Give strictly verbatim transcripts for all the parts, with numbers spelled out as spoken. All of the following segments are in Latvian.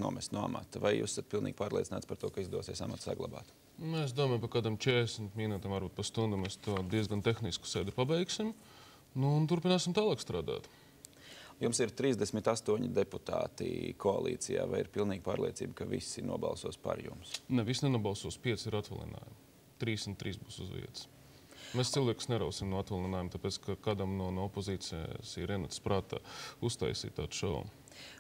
nomest no amata. Vai jūs esat pilnīgi pārliecināts par to, ka izdosies amatu saglabāt? Es domāju, par kādam četrdesmit minūtēm, varbūt pa stundu mēs to diezgan tehnisku sēdi pabeigsim. Nu, un turpināsim tālāk strādāt. Jums ir trīsdesmit astoņi deputāti koalīcijā. Vai ir pilnīgi pārliecība, ka visi nobalsos par jums? Ne, visi nenobalsos. Pieci ir atvaļinājumi. Trīs un trīs būs uz vietas. Mēs cilvēkus nerausim no atvaļinājuma, tāpēc, ka kādam no, no opozīcijas ir ienācis prātā uztaisīt tādu šovu.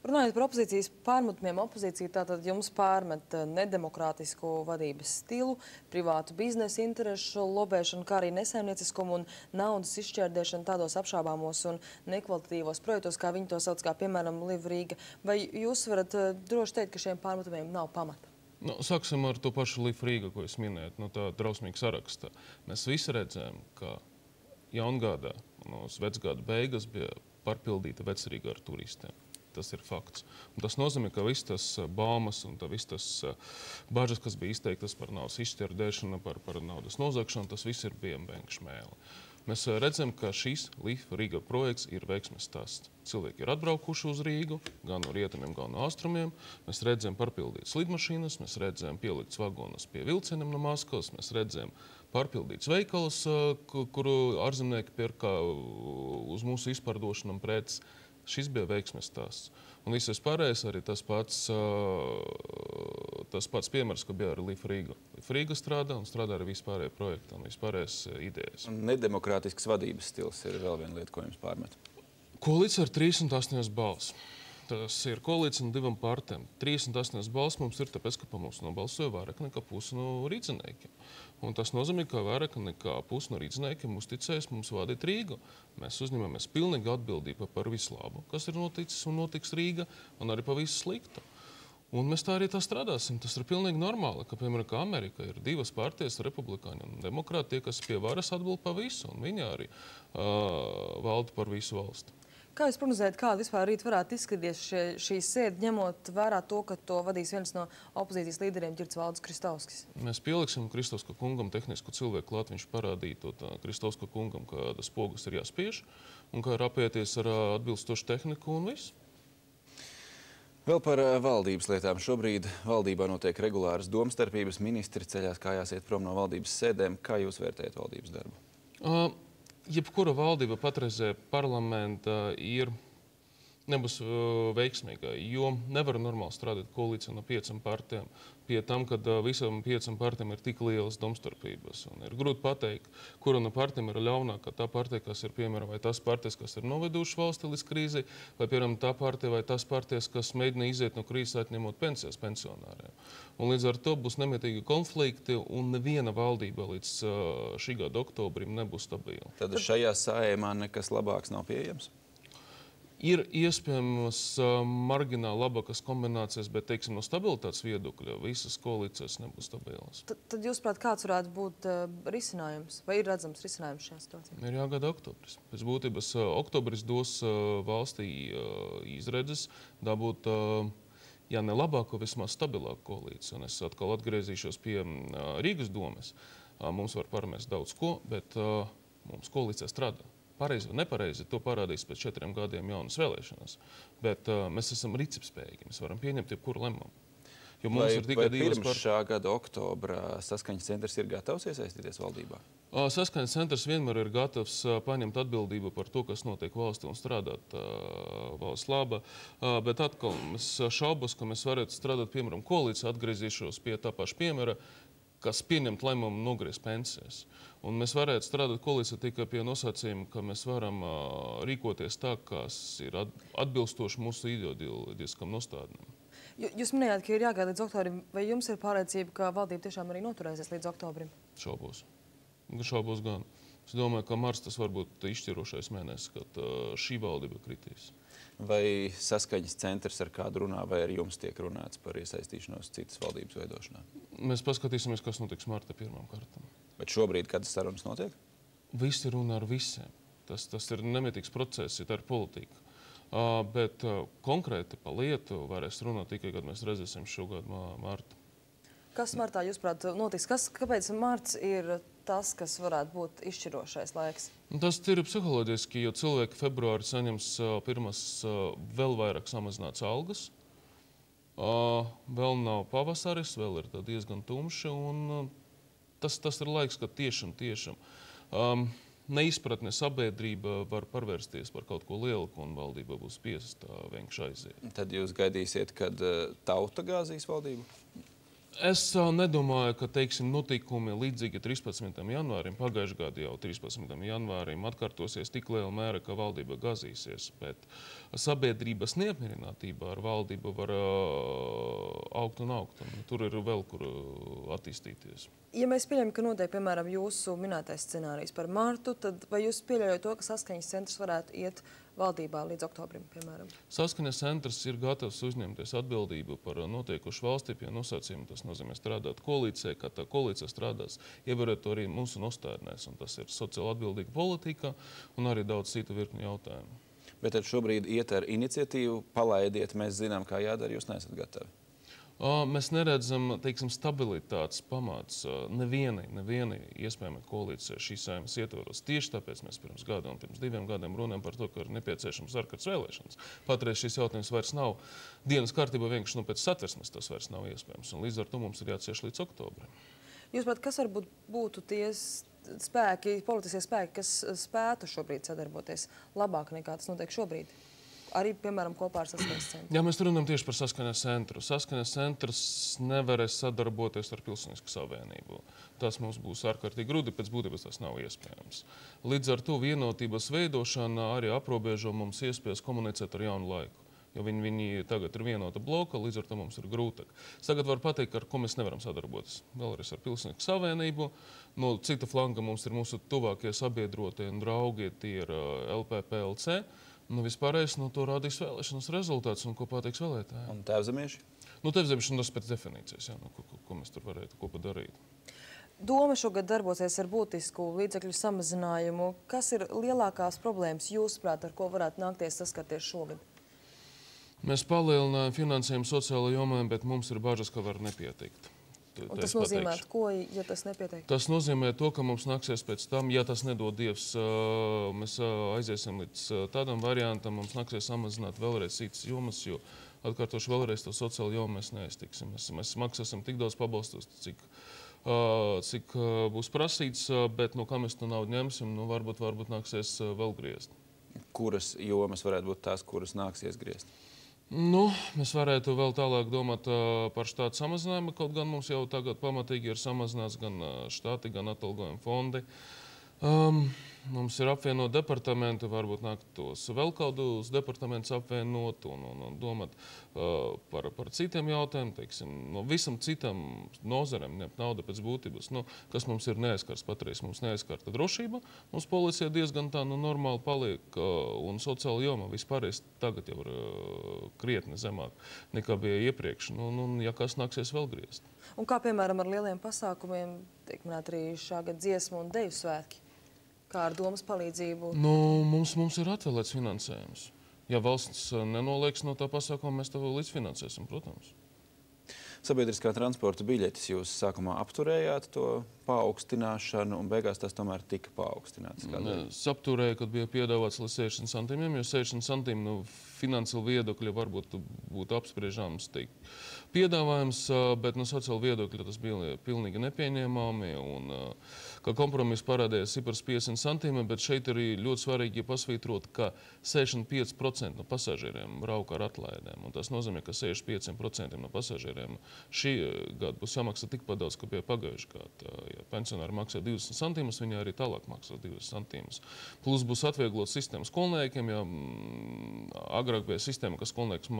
Runājot par opozīcijas pārmetumiem, opozīcija tātad jums pārmet nedemokrātisku vadības stilu, privātu biznesa interešu lobēšanu, kā arī nesaimnieciskumu un naudas izšķērdēšanu tādos apšābāmos un nekvalitatīvos projektos, kā viņi to sauc, kā piemēram Live Riga. Vai jūs varat droši teikt, ka šiem pārmetumiem nav pamata? Nu, sāksim ar to pašu Live Riga, ko jūs minējat, no tā drausmīga saraksta. Mēs visi redzējām, ka jaungadā, no vecgada beigas bija pārpildīta Vecrīga ar turistiem. Tas ir fakts. Un tas nozīmē, ka viss tas baumas un viss tas bažas, kas bija izteiktas par naudas izšķērdēšanu, par, par naudas nozagšanu, tas viss ir vienbenka šmēle. Mēs redzam, ka šis Live Riga projekts ir veiksmes stāsts. Cilvēki ir atbraukuši uz Rīgu, gan no rietumiem, gan no austrumiem. Mēs redzam pārpildītas lidmašīnas, mēs redzam pielikts vagonus pie vilcieniem no Maskavas, mēs redzam pārpildīts veikals, kuru ārzemnieki pirka uz mūsu izpārdošanām preces. Šis bija veiksmes stāsts. Un viss pārējais arī tas pats, tas pats piemērs, ka bija ar Live Riga. Live Riga strādā un strādā arī vispārējie projekti un vispārējās idejas. Un nedemokrātisks vadības stils ir vēl viena lieta, ko jums pārmet. Koalīcija ar trīsdesmit astoņas balss. Tas ir koalīcija no divām partijām. trīsdesmit astoņas balss mums ir tāpēc, ka pa mums nobalsoja vairāk nekā pusi no rīdziniekiem. Un tas nozīmē, ka vairāk nekā pusi no rīdziniekiem uzticēs mums vadīt Rīgu. Mēs uzņemamies pilnīgi atbildību par visu labu, kas ir noticis un notiks Rīga, un arī par visu sliktu. Un mēs tā arī tā strādāsim. Tas ir pilnīgi normāli, ka, piemēram, ka Amerika ir divas partijas, republikāņi un demokrāti, tie, kas pie varas atbild par visu, un viņi arī uh, valda par visu valsti. Kā jūs prognozējat, kāda vispār rīt varētu izskatīties šie, šī sēde, ņemot vērā to, ka to vadīs viens no opozīcijas līderiem, Ģirds Valdis Kristovskis? Mēs pieliksim Kristovska kungam tehnisku cilvēku klāt, viņš parādīja to tā, Kristovska kungam, ka tas pogas ir jāspiež, un kā ir apieties ar atbilstošu tehniku un visu. Vēl par valdības lietām. Šobrīd valdībā notiek regulāras domstarpības, ministri ceļās kājās iet prom no valdības sēdēm. Kā jūs vērtējat valdības darbu? Uh, Jebkura valdība patreizē parlamenta ir nebūs uh, veiksmīga, jo nevar normāli strādāt koalīcija no piecām partijām. Pie tam, kad uh, visam piecām partijām ir tik lielas domstarpības. Un ir grūti pateikt, kura no partijām ir ļaunākā. Tā partija, kas ir, piemēram, vai tās partijas, kas ir noveduši valsti līdz krīzei, vai, piemēram, tā partija vai tās partijas, kas mēģina iziet no krīzes atņemot pensijas pensionāriem. Un līdz ar to būs nemitīgi konflikti, un neviena valdība līdz uh, šī gada oktobrim nebūs stabila. Tad šajā saējumā nekas labāks nav pieejams? Ir iespējams uh, margināli labākas kombinācijas, bet, teiksim, no stabilitātes viedokļa visas koalīcijas nebūs stabilas. Tad, tad jūs, prāt, kāds varētu būt uh, risinājums? Vai ir redzams risinājums šajā situācijā? Ir jāgada oktobris. Pēc būtības uh, oktobris dos uh, valstī uh, izredzes dabūt, uh, ja ne labāko, vismaz stabilāku koalīciju. Un es atkal atgriezīšos pie uh, Rīgas domes. Uh, mums var pārmest daudz ko, bet uh, mums koalīcija strādā. Pareizi vai nepareizi, to parādīs pēc četriem gadiem jaunas vēlēšanas. Bet uh, mēs esam rīcībspējīgi, mēs varam pieņemt jebkuru lēmumu. Jo mums vai, ir tikai vai divas pirms par... šā gada oktobra Saskaņas centrs ir gatavs iesaistīties valdībā? Uh, Saskaņas centrs vienmēr ir gatavs uh, paņemt atbildību par to, kas notiek valstī un strādāt uh, valsts laba. Uh, bet atkal, es šaubos, ka mēs varētu strādāt, piemēram, koalīcija, atgriezīšos pie tā paša piemēra, kas pieņemt lēmumu nogriezt pensijas. Un mēs varētu strādāt koalīcijā tikai pie nosacījuma, ka mēs varam uh, rīkoties tā, kas ir atbilstoši mūsu ideoloģiskam nostādnēm. Jūs minējāt, ka ir jāgaida līdz oktobrim. Vai jums ir pārliecība, ka valdība tiešām arī noturēsies līdz oktobrim? Šaubos. Šaubos gan. Es domāju, ka marts tas var būt izšķirošais mēnesis, kad uh, šī valdība kritīs. Vai Saskaņas centrs ar kādu runā, vai ar jums tiek runāts par iesaistīšanos citas valdības veidošanā? Mēs paskatīsimies, kas notiks marta pirmām kārtām. Bet šobrīd, kad sarunas notiek? Visi runā ar visiem. Tas, tas ir nemitīgs process, ja tā ir politika. Uh, bet uh, konkrēti pa lietu varēs runāt tikai, kad mēs redzēsim šogad martu. Kas martā, jūsuprāt, notiks? Kas, kāpēc marts ir tas, kas varētu būt izšķirošais laiks? Tas ir psiholoģiski, jo cilvēki februāri saņems uh, pirmas uh, vēl vairāk samazināts algas. Vēl nav pavasaris, vēl ir diezgan tumši, un tas, tas ir laiks, kad tiešām, tiešām um, neizpratne sabiedrība var parvērsties par kaut ko lielu, un valdība būs spiesta vienkārši aiziet. Tad jūs gaidīsiet, kad tauta gāzīs valdību? Es uh, nedomāju, ka, teiksim, notikumi līdzīgi trīspadsmitajam janvārim, pagājušajā gadā jau trīspadsmitajam janvārim atkārtosies tik liela mēra, ka valdība gāzīsies, bet sabiedrības neapmierinātība ar valdību var uh, augt un augt, un tur ir vēl kur uh, attīstīties. Ja mēs pieļaujam, ka notiek, piemēram, jūsu minētais scenārijs par martu, tad vai jūs pieļaujat to, ka saskaņas centrs varētu iet valdībā līdz oktobrim, piemēram? Saskaņas centrs ir gatavs uzņemties atbildību par notiekušu valstī pie nosacījuma. Tas nozīmē strādāt koalīcijā, kā tā koalīcija strādās, ievērot to arī mūsu nostādnēs, un tas ir sociāli atbildīga politika un arī daudz citu virkni jautājumu. Bet tad šobrīd iet ar iniciatīvu, palaidiet, mēs zinām, kā jādara, jūs neesat gatavi. Mēs neredzam, teiksim, stabilitātes pamats nevienai, nevienai iespējamai koalīcijai šīs saeimas ietvaros. Tieši tāpēc mēs pirms gada un pirms diviem gadiem runājam par to, ka ir nepieciešams ārkārtas vēlēšanas. Patreiz šis jautājums vairs nav dienas kārtībā, vienkārši nu, pēc satversmes tas vairs nav iespējams. Un līdz ar to mums ir jācieš līdz oktobrim. Jūs pat, kas varbūt būtu tie spēki, politiskie spēki, kas spētu šobrīd sadarboties labāk nekā tas notiek šobrīd? Arī, piemēram, kopā ar Saskaņas centru. Jā, mēs runājam tieši par Saskaņas centru. Saskaņas centrs nevarēs sadarboties ar Pilsonisku savienību. Tas mums būs ārkārtīgi grūti, pēc būtības tas nav iespējams. Līdz ar to vienotības veidošana arī aprobežo mums iespējas komunicēt ar jaunu laiku. Jo viņi, viņi tagad ir vienota bloka, līdz ar to mums ir grūtāk. Tagad var pateikt, ar ko mēs nevaram sadarboties. Vēlreiz ar Pilsonisku savienību. No cita flanga mums ir mūsu tuvākie sabiedrotie un draugi, tie ir L P P L C. Nu, vispārējais, nu, to rādīs vēlēšanas rezultāts un ko pateiks vēlētāji. Un tēvzemieši? Nu, tēvzemieši, tas pēc definīcijas, jā, nu, ko, ko mēs tur varētu kopā darīt. Doma šogad darbosies ar būtisku līdzekļu samazinājumu. Kas ir lielākās problēmas jūsuprāt, ar ko varētu nākties saskarties šogad? Mēs palielinājām finansējumu sociālo jomai, bet mums ir bažas, ka var nepietikt. Un tas nozīmē, ko, ja tas nepietiek? Tas nozīmē to, ka mums nāksies pēc tam, ja tas nedod Dievs, mēs aiziesim līdz tādam variantam, mums nāksies samazināt vēlreiz citas jomas, jo atkārtoši vēlreiz to sociālo jomu mēs neiztiksim. Mēs, mēs maksāsim tik daudz pabalstus, cik, cik būs prasīts, bet no kā mēs to naudu ņemsim, nu varbūt, varbūt nāksies vēl griezt. Kuras jomas varētu būt tās, kuras nāksies griezt? Nu, mēs varētu vēl tālāk domāt uh, par štātu samazinājumu, kaut gan mums jau tagad pamatīgi ir samazināts gan uh, štāti, gan atalgojuma fondi. Um, mums ir apvienot departamenti, varbūt nāktos vēl kādus departamentus apvienot un, un, un domāt uh, par, par citiem jautājumiem, teiksim, no visam citam nozarēm, ņemt naudu pēc būtības, nu, kas mums ir neaizskars patreiz, mums neaizskarta drošība, mums policija diezgan tā, nu, normāli paliek uh, un sociāla joma vispārējais tagad jau ir uh, krietni zemāk nekā bija iepriekš, nu, nu, ja kas nāksies vēl griezt. Un kā, piemēram, ar lieliem pasākumiem, tiek minēt arī šā gada dziesmu un deju svētki? Kā ar domas palīdzību? Nu, mums, mums ir atvēlēts finansējums. Ja valsts nenolieks no tā pasākuma, mēs to līdzfinansēsim, protams. Sabiedriskā transporta biļetes jūs sākumā apturējāt to paaugstināšanu, un beigās tas tomēr tika paaugstināts. Es apturēju, kad bija piedāvāts līdz sešdesmit centimiem, jo sešdesmit centimi no finansiāla viedokļa varbūt būtu apspriežams teikt piedāvājums, bet no sociāla viedokļa tas bija pilnīgi nepieņēmami. Un, kā kompromiss parādījās cipars piecdesmit centimi, bet šeit arī ļoti svarīgi pasvītrot, ka sešdesmit pieci procenti no pasažieriem brauka ar atlaidēm. Un tas nozīmē, ka sešdesmit pieci procenti no pasažieriem šī gada būs jāmaksā tikpat daudz, kā bija pagājuši gadu. Ja pensionāri maksā divdesmit centimus, viņi arī tālāk maksās divdesmit centimus. Plus būs atvieglot sistēmu skolniekiem, ja agrāk bija sistēma, ka skolnieks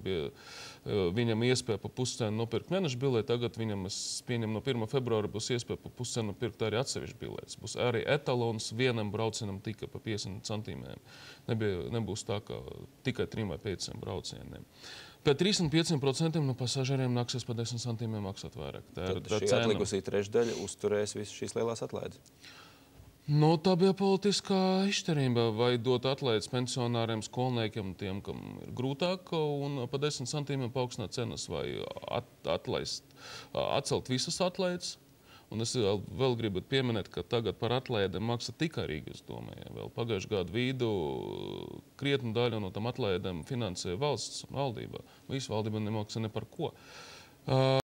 bija, viņam iespēja pa puscenu nopirkt mēneša bileti, tagad viņam, es pieņemu, no pirmā februāra būs iespēja pa puscenu nopirkt arī atsevišķi biletes. Būs arī etalons vienam braucienam tika pa piecdesmit centimiem. Nebija, nebūs tā, ka tikai trim vai pieciem braucieniem. Pēc trīsdesmit pieciem procentiem no pasažieriem nāksies pa desmit centimiem maksāt vairāk. Tā ir Tad šī atlikusī trešdaļa uzturēs visas šīs lielās atlaides. Nu, tā bija politiskā izšķirība, vai dot atlaides pensionāriem, skolniekiem, tiem, kam ir grūtāk, un pa desmit centimiem paaugstināt cenas, vai at, atlaist, atcelt visas atlaides, Un es vēl, vēl gribu pieminēt, ka tagad par atlaidēm maksā tikai Rīgas domē. Ja. Vēl pagājušajā gadu vidū krietnu daļu no tam atlaidēm finansēja valsts un valdībā. Visu valdība nemaksā ne par ko. Uh,